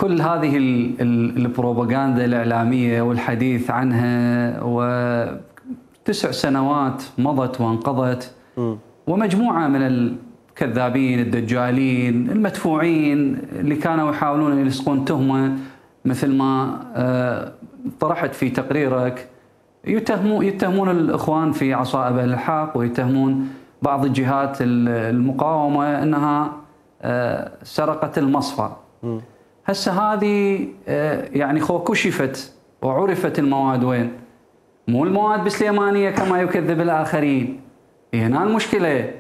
كل هذه البروباغندا الإعلامية والحديث عنها، و9 سنوات مضت وانقضت، ومجموعة من الكذابين الدجالين المدفوعين اللي كانوا يحاولون يلصقون تهمة مثل ما طرحت في تقريرك، يتهمون الإخوان في عصائب الحق، ويتهمون بعض الجهات المقاومة أنها سرقت المصفى. هسه هذه يعني كشفت وعرفت المواد وين. مو المواد بسليمانية كما يكذب الآخرين، هنا المشكلة.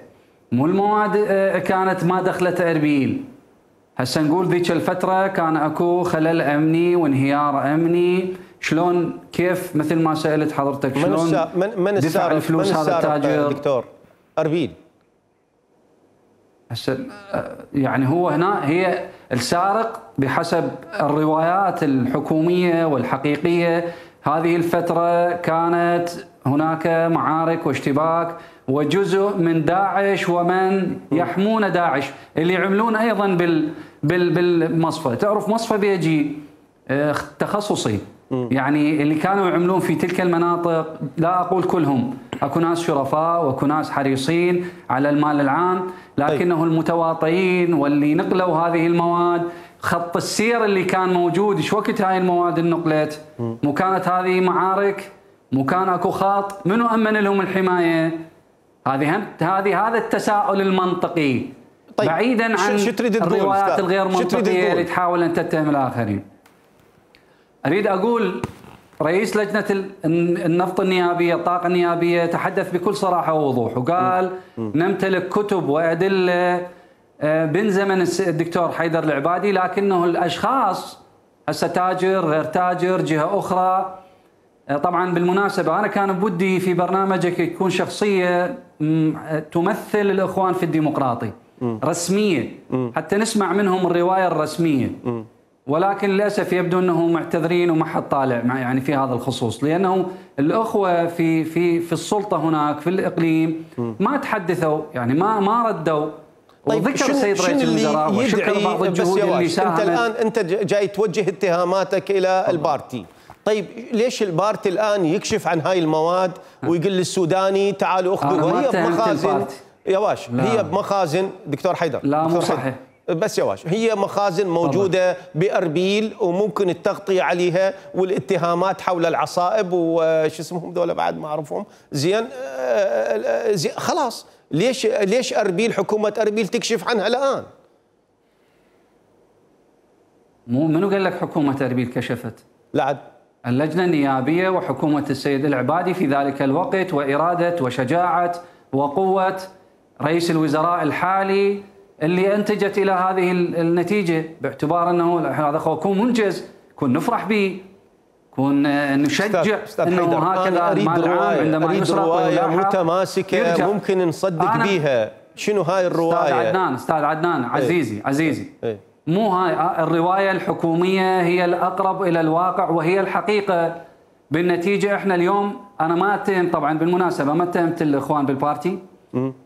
مو المواد كانت ما دخلت أربيل. هسه نقول ذيك الفترة كان اكو خلل أمني وانهيار أمني. شلون كيف مثل ما سألت حضرتك شلون من دفع الفلوس هذا التاجر دكتور أربيل؟ هسه يعني هو هنا هي السارق بحسب الروايات الحكومية والحقيقية. هذه الفترة كانت هناك معارك واشتباك، وجزء من داعش ومن يحمون داعش اللي يعملون ايضا بالمصفى. تعرف مصفى بيجي تخصصي، يعني اللي كانوا يعملون في تلك المناطق، لا اقول كلهم، اكو ناس شرفاء واكو ناس حريصين على المال العام، لكنه المتواطئين واللي نقلوا هذه المواد، خط السير اللي كان موجود، ايش وقت هاي المواد انقلت؟ مو كانت هذه معارك؟ مو كان اكو خط؟ منو امن لهم الحمايه؟ هذا التساؤل المنطقي. طيب بعيدا عن الروايات الغير منطقيه اللي تحاول ان تتهم الاخرين. اريد اقول رئيس لجنه النفط النيابيه، الطاقه النيابيه، تحدث بكل صراحه ووضوح وقال نمتلك كتب وادله بن زمن الدكتور حيدر العبادي، لكنه الاشخاص هسه تاجر غير تاجر جهه اخرى. طبعا بالمناسبه انا كان بودي في برنامجك يكون شخصيه تمثل الاخوان في الديمقراطي رسميه، حتى نسمع منهم الروايه الرسميه، ولكن للاسف يبدو انهم معتذرين وما حد طالع يعني في هذا الخصوص، لانه الاخوه في السلطه هناك في الاقليم ما تحدثوا، يعني ما ردوا. طيب وذكر السيد رئيس الوزراء وشكر بعض الجهود اللي ساهمت. انت الان جاي توجه اتهاماتك الى البارتي. طيب ليش البارتي الان يكشف عن هاي المواد ويقول للسوداني تعالوا اخذوها؟ وهي بمخازن يا واش، هي بمخازن دكتور حيدر. لا مو صحيح. بس يا واش، هي مخازن موجوده باربيل وممكن التغطيه عليها، والاتهامات حول العصائب وش اسمهم ذولا بعد ما اعرفهم زين. خلاص ليش اربيل، حكومه اربيل تكشف عنها الان؟ منو قال لك حكومه اربيل كشفت؟ لا، اللجنه النيابيه وحكومه السيد العبادي في ذلك الوقت، واراده وشجاعه وقوه رئيس الوزراء الحالي اللي انتجت الى هذه النتيجه، باعتبار انه هذا يكون منجز، كون نفرح به، كون نشجع انه هكذا المال العام عندما يسرق روايه متماسكه ممكن نصدق بيها. شنو هاي الروايه؟ استاذ عدنان عزيزي مو هاي الروايه الحكوميه، هي الاقرب الى الواقع وهي الحقيقه. بالنتيجه احنا اليوم انا ما اتهم، طبعا بالمناسبه ما اتهمت الاخوان بالبارتي،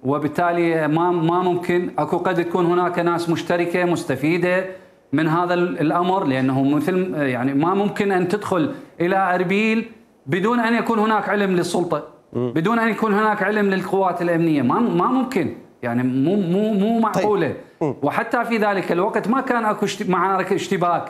وبالتالي ما ممكن قد تكون هناك ناس مشتركه مستفيده من هذا الامر، لانه مثل يعني ما ممكن ان تدخل الى اربيل بدون ان يكون هناك علم للسلطه، بدون ان يكون هناك علم للقوات الامنيه، ما ممكن، يعني مو معقوله. وحتى في ذلك الوقت ما كان اكو معارك اشتباك.